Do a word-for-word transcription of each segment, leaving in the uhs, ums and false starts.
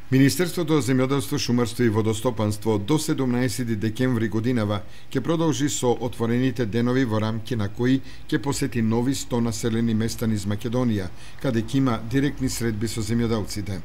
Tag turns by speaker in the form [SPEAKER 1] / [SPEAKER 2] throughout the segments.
[SPEAKER 1] Министерството за земјоделство, шумарство и водостопанство до седумнаесети декември годинава ќе продолжи со отворените денови во рамки на кои ќе посети нови сто населени места низ Македонија, каде ќе има директни средби со земјоделците.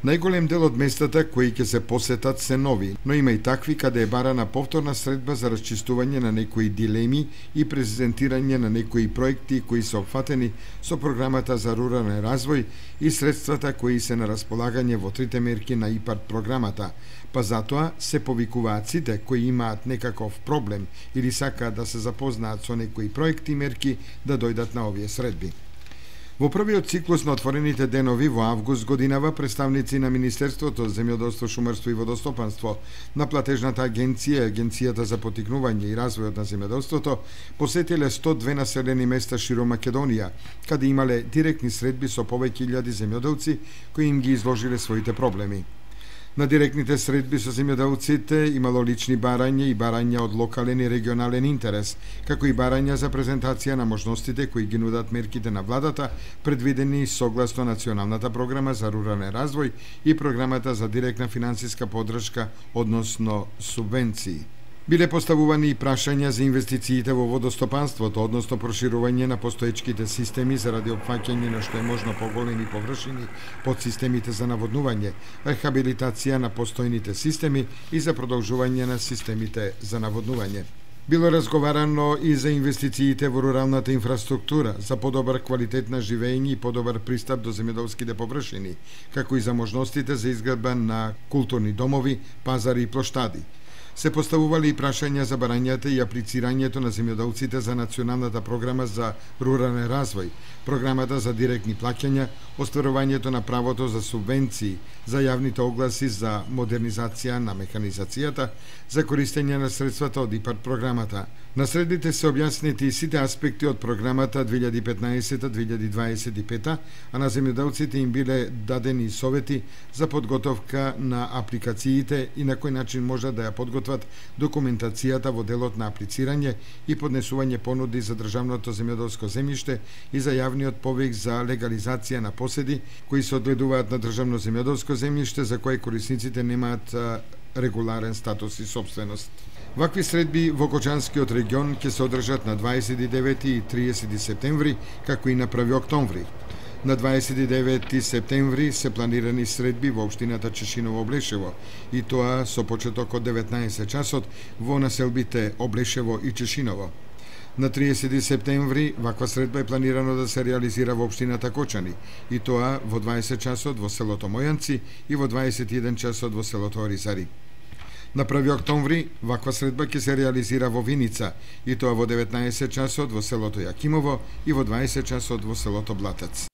[SPEAKER 1] Најголем дел од местата кои ќе се посетат се нови, но има и такви каде е барана повторна средба за расчистување на некои дилеми и презентирање на некои проекти кои се опфатени со програмата за рурален развој и средствата кои се на располагање во трите мерки на ИПАРД програмата, па затоа се повикуваат сите кои имаат некаков проблем или сакаат да се запознаат со некои проекти и мерки да дојдат на овие средби. Во првиот циклус на отворените денови во август годинава представници на Министерството за земјоделство, шумарство и водостопанство, на платежната агенција, Агенцијата за поттикнување и развојот на земјоделството, посетиле сто две населени места широм Македонија, каде имале директни средби со повеќе илјади земјоделци кои им ги изложиле своите проблеми. На директните средби со земјоделците имало лични барања и барања од локален и регионален интерес, како и барања за презентација на можностите кои ги нудат мерките на владата, предвидени согласно Националната програма за рурален развој и програмата за директна финансиска поддршка, односно субвенции. Биле поставувани и прашања за инвестициите во водостопанството, односно проширување на постоечките системи заради опфаќање на што е можно поголеми површини под системите за наводнување, рехабилитација на постојните системи и за продолжување на системите за наводнување. Било разговарано и за инвестициите во руралната инфраструктура, за подобар квалитет на живење и подобар пристап до земјоделските површини, како и за можностите за изградба на културни домови, пазари и плоштади. Се поставували и прашања за барањата и аплицирањето на земјоделците за Националната програма за рурален развој, програмата за директни плаќања, остварувањето на правото за субвенции, за јавните огласи за модернизација на механизацијата, за користење на средствата од ИПАРД програмата. На средбите се објаснети и сите аспекти од програмата две илјади и петнаесета до две илјади дваесет и пета, а на земјоделците им биле дадени совети за подготовка на апликациите и на кој начин може да ја подготват документацијата во делот на аплицирање и поднесување понуди за државното земјоделско земјиште и за јавниот повик за легализација на поседи кои се одгледуваат на државно земјоделско земјиште за кое корисниците немаат регуларен статус и собственост. Вакви средби во Кочанскиот регион ќе се одржат на дваесет и девети и триесети септември, како и на први октомври. На дваесет и девети септември се планирани средби во општината Чешиново-Облешево, и тоа со почеток од деветнаесет часот во населбите Облешево и Чешиново. На триесети септември ваква средба е планирано да се реализира во општината Кочани, и тоа во дваесет часот во селото Мојанци и во дваесет и еден часот во селото Оризари. На први октомври ваква средба ќе се реализира во Виница, и тоа во деветнаесет часот во селото Јакимово и во дваесет часот во селото Блатец.